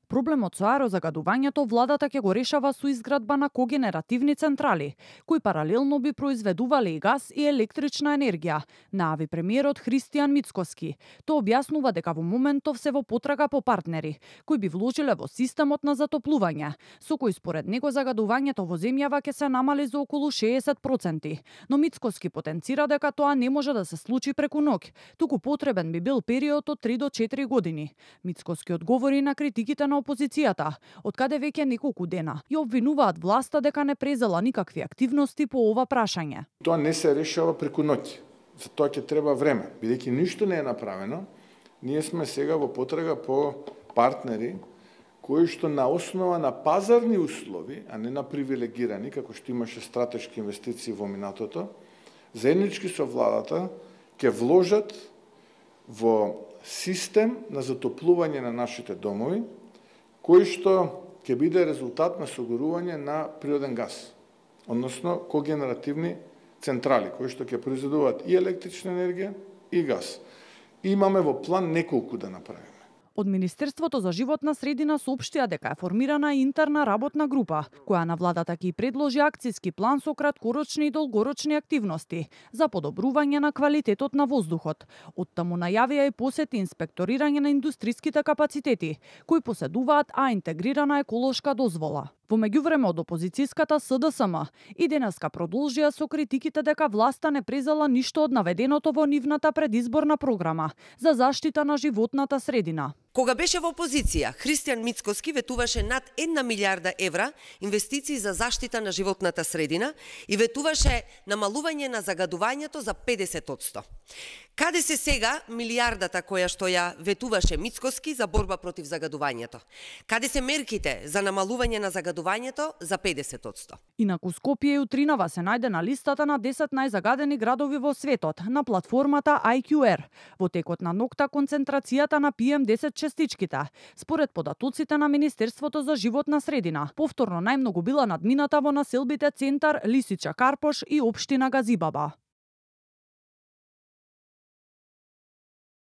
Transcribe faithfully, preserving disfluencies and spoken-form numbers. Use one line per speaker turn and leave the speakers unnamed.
Проблемот со аерозагадувањето владата ќе го решава со изградба на когенеративни централи, кои паралелно би произведувале и газ и електрична енергија, најави премиерот Христијан Мицкоски. Тој објаснува дека во моментов се во потрага по партнери, кои би вложиле во системот на затоплување, со кој според него загадувањето во земјава ќе се намали за околу шеесет проценти. Но Мицкоски потенцира дека тоа не може да се случи преку ноќ, туку потребен би бил период од три до четири години. Мицкоски одговори на критиките на опозицијата, од каде веќе неколку дена и обвинуваат власта дека не презела никакви активности по ова прашање.
Тоа не се решава преку ноќ. За тоа ќе треба време. Бидејќи ништо не е направено, ние сме сега во потрага по партнери кои што на основа на пазарни услови, а не на привилегирани, како што имаше стратешки инвестиции во минатото, заеднички со владата ќе вложат во систем на затоплување на нашите домови, кој што ќе биде резултат на согорување на природен газ, односно когенеративни централи, кои што ќе произведуваат и електрична енергија и газ. И имаме во план неколку да направиме.
Од Министерството за животна средина соопштија дека е формирана интерна работна група, која на владата ќе предложи акцијски план со краткорочни и долгорочни активности за подобрување на квалитетот на воздухот. Оттаму најавија и посети инспекторирање на индустриските капацитети, кои поседуваат А интегрирана еколошка дозвола. Во меѓувреме од опозицијската С Д С М и денеска продолжија со критиките дека власта не презела ништо од наведеното во нивната предизборна програма за заштита на животната средина.
Кога беше во опозиција, Христијан Мицкоски ветуваше над една милиарда евра инвестиции за заштита на животната средина и ветуваше намалување на загадувањето за педесет одсто. Каде се сега милиардата која што ја ветуваше Мицкоски за борба против загадувањето? Каде се мерките за намалување на загадувањето за педесет одсто?
Инаку Скопје и Утринава се најде на листата на десет најзагадени градови во светот на платформата I Q R. Во текот на ноќта концентрацијата на P M десет честичките, според податоците на Министерството за животна средина, повторно најмногу била надмината во населбите Центар, Лисича, Карпош и општина Газибаба.